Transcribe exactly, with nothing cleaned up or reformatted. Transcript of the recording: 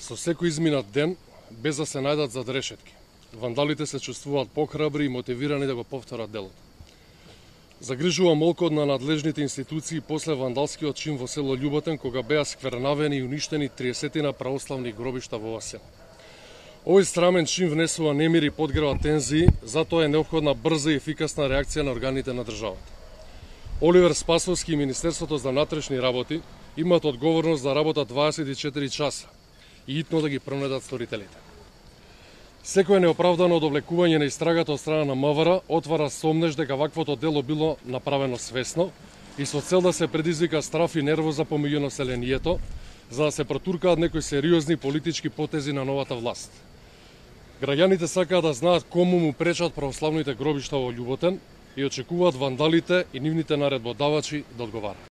Со секој изминат ден, без да се најдат зад решетки, вандалите се чувствуваат похрабри и мотивирани да го повторат делото. Загрижува молкот на надлежните институции после вандалскиот чин во село Љуботен, кога беа сквернавени и уништени триесет православни гробишта во оваа села. Овој срамен чин внесува немир и подгрева тензии, затоа е неопходна брза и ефикасна реакција на органите на државата. Оливер Спасовски и Министерството за внатрешни работи имаат одговорност да работат дваесет и четири часа и итно да ги пронедат сторителите. Секое неоправдано одовлекување на истрагата од страна на МВР отвара сомнеш дека ваквото дело било направено свесно и со цел да се предизвика страф и нервоза помеѓу населението, за да се протуркаат некои сериозни политички потези на новата власт. Граѓаните сакаат да знаат кому му пречат православните гробишта во Љуботен и очекуваат вандалите и нивните наредбодавачи да одговараат.